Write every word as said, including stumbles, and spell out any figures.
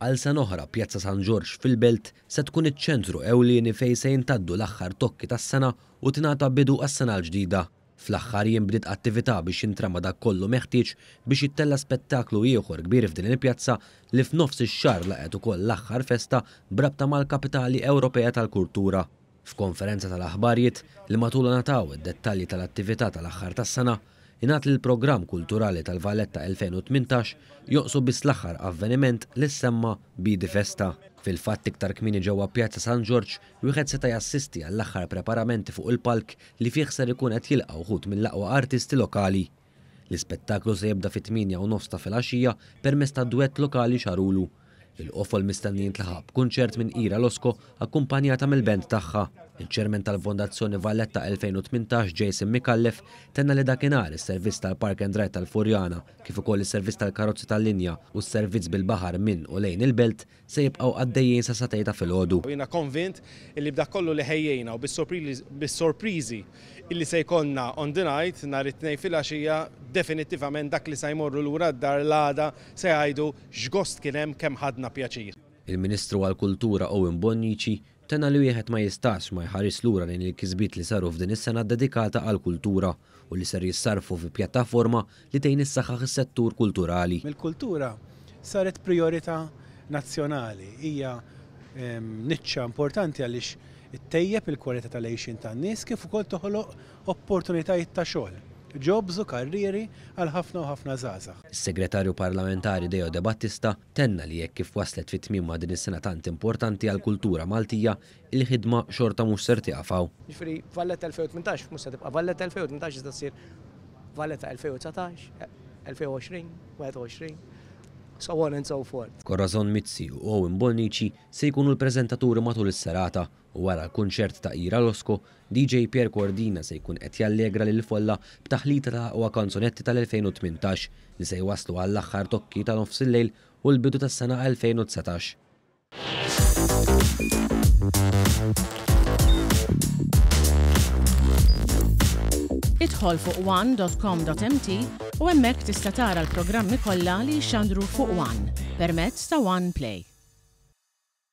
Għal sena oħra, Pjazza San Ġorġ fil-Belt se tkun iċ-ċentru ewlieni fejn se jintgħaddu l-aħħar tokki tas-sena u tingħata bidu għas-sena l-ġdida. Fl-aħħar jiem bdiet attività biex jintrama dak kollu meħtieġ biex jittella' spettaklu ieħor kbir f'din il-pjazza li f'nofs ix-xahar laqgħet ukoll l-aħħar festa b'rabta mal-Kapitali Ewropea tal-Kultura. F'konferenza tal-aħbarijiet li matulha ngħataw id-dettalji tal-attività tal-aħħar tas-sena, ingħad li l-programm kulturali tal-Valletta elfejn u tmintax jonqsu biss l-aħħar avveniment li semma Bidi Festa. Fil-fatt, iktar kmieni ġewwa Pjazza San Ġorġ wieħed seta' jassisti għall-aħħar preparamenti fuq il-palk li fih ser ikun qed jilqa' wħud mill-aqwa artisti lokali. L-ispettaklu se jibda fit-tmienja u nofs ta' filgħaxija permezz ta' duett lokali Xarulu. Il-qofol mistenni jintlaħaq b'kunċert minn Ira Losco akkumpanjata mill-band tagħha. Il-ċermen tal-Fondazzjoni Valletta elfejn u tmintax, Jason Micallef, tenna li dakinhar is-servizz tal-Park and Ride tal-Furjana, kif ukoll is-servizz tal-karozzi tal-linja u s-servizz bil-baħar minn u lejn il-belt se jibqgħu għaddejjin sa sagħtejn ta' filgħodu. Jiena konvint illi b'dak kollu li ħejjejna u bis-sorpriżi illi se jkollna on the night nhar it-Tnejn filgħaxija, definittivament dak li se jmorru lura d-dar l-għada se jgħidu x'gost kien hemm, kemm ħadna pjaċir. Il-Ministru għall-Kultura Owen Bonnici tenna li wieħed ma jistax ma jħares lura lejn il-kisbiet li saru f'din is-sena dedikata għall-kultura u li ser jissarfu fi pjattaforma li tgħin issaħħaħ is-settur kulturali. Il-kultura saret priorità nazzjonali, hija ehm, niċċa importanti għaliex ittejjeb il-kwalità tal-għixien tan-nies kif ukoll toħloq opportunitajiet ta' xogħol, jobs u karrieri għal ħafna u ħafna żgħażagħ. Is-Segretarju Parlamentari Deo De Battista tenna li jekk kif waslet fit tmiem ma' din is-sena tant importanti għall-kultura Maltija, il-ħidma xorta mhux ser tieqaf hawn. Ġifieri Valletta elfejn u tmintax mhux se tibqa' Valletta elfejn u tmintax, iżda ssir Valletta elfejn u dsatax, elfejn u għoxrin, wieħed u għoxrin, so on and so forth. Corazon Mizzi u Owen Bonnici se jkunu l-preżentaturi matul is-serata u wara l-kunċert ta' Ira Losco, D J Pierre Cordina se jkun qed jallegra lil folla b'taħlita ta' aqwa kanzunetti tal-elfejn u tmintax li se jwaslu għall-aħħar tokki ta' nofs il-lejl u l-bidu tas-sena elfejn u dsatax. Idħol fuq one dot com dot M T u hemmhekk tista' tara l-programmi kollha li jxandru fuq One permezz ta' One Play.